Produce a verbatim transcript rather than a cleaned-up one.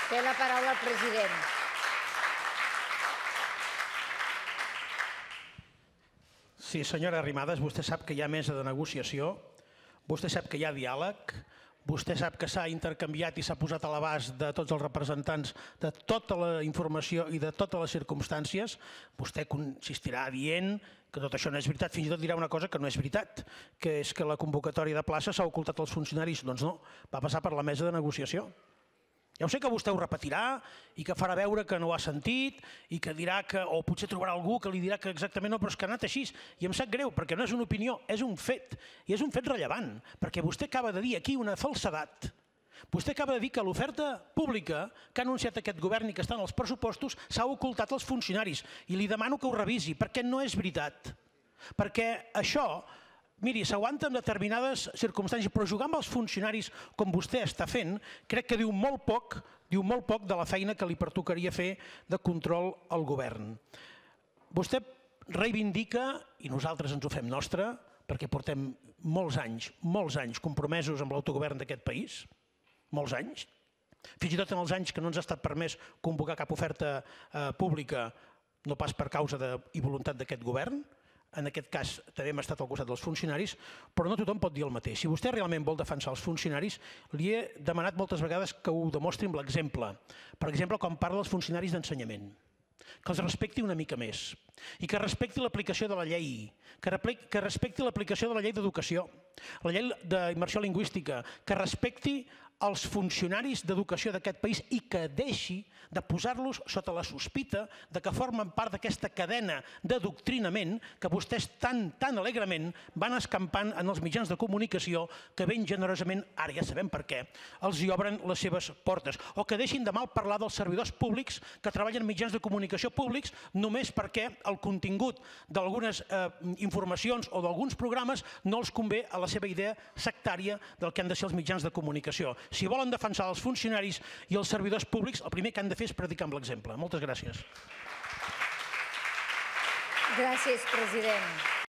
Té la paraula el president. Sí, senyora Arrimadas, vostè sap que hi ha mesa de negociació, vostè sap que hi ha diàleg, vostè sap que s'ha intercanviat i s'ha posat a l'abast de tots els representants de tota la informació i de totes les circumstàncies. Vostè consistirà dient que tot això no és veritat, fins i tot dirà una cosa que no és veritat, que és que la convocatòria de plaça s'ha ocultat als funcionaris. Doncs no, va passar per la mesa de negociació. Ja ho sé que vostè ho repetirà i que farà veure que no ho ha sentit i que dirà que, o potser trobarà algú que li dirà que exactament no, però és que ha anat així. I em sap greu, perquè no és una opinió, és un fet. I és un fet rellevant, perquè vostè acaba de dir aquí una falsedat. Vostè acaba de dir que l'oferta pública que ha anunciat aquest govern i que està en els pressupostos s'ha ocultat als funcionaris. I li demano que ho revisi, perquè no és veritat. Perquè això... Miri, s'aguanta en determinades circumstàncies, però jugar amb els funcionaris com vostè està fent, crec que diu molt poc, diu molt poc de la feina que li pertocaria fer de control al govern. Vostè reivindica, i nosaltres ens ho fem nostre, perquè portem molts anys, molts anys compromesos amb l'autogovern d'aquest país, molts anys, fins i tot en els anys que no ens ha estat permès convocar cap oferta pública, no pas per causa i voluntat d'aquest govern. En aquest cas també hem estat al costat dels funcionaris, però no tothom pot dir el mateix. Si vostè realment vol defensar els funcionaris, li he demanat moltes vegades que ho demostri amb l'exemple. Per exemple, quan parla dels funcionaris d'ensenyament, que els respecti una mica més i que respecti l'aplicació de la llei, que respecti l'aplicació de la llei d'educació, la llei d'immersió lingüística, que respecti els funcionaris d'educació d'aquest país i que deixi de posar-los sota la sospita de que formen part d'aquesta cadena d'adoctrinament que vostès tan, tan alegrement van escampant en els mitjans de comunicació que ben generosament, ara ja sabem per què, els hi obren les seves portes. O que deixin de mal parlar dels servidors públics que treballen en mitjans de comunicació públics només perquè el contingut d'algunes informacions o d'alguns programes no els convé a la seva idea sectària del que han de ser els mitjans de comunicació. Si volen defensar els funcionaris i els servidors públics, el primer que han de fer és predicar amb l'exemple. Moltes gràcies. Gràcies, president.